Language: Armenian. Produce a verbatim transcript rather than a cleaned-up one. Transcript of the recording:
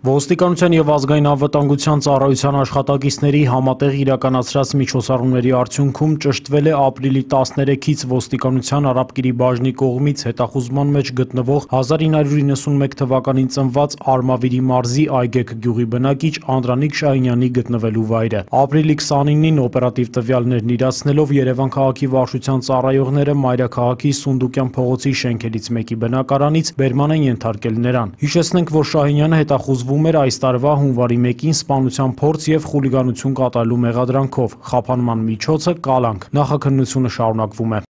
Ոստիկանության և ազգային անվտանգության ծառայության աշխատակիցների համատեղ իրականացրած միջոցառումների արդյունքում ճշտվել է ապրիլի տասներեքից ոստիկանության Արաբկիրի բաժնի կողմից հետախուզման մեջ գտնվող հազար ինը հարյուր իննսունմեկ թվականին ծնված Արմավիրի մարզի Այգեգ գյուղի բնակիչ Անդրանիկ Շահինյանի գտնվելու վայրը։ Ապրիլի քսանինին օպերատիվ տվյալներն իրացնելով Երևան քաղաքի վարչության ծառայողները մայրաքաղաքի Սունդուկյան փողոցի շենքերից մեկի բնակարանից բերման են ենթարկել նրան։ Հիշեցնենք, որ Շահինյանը հետախուզվում էր այս տարվա հունվարի մեկին սպանության փորձ և խուլիգանություն կատարելու մեղադրանքով, խափանման միջոցը՝ կալանք։ Նախաքննությունը շարունակվում է։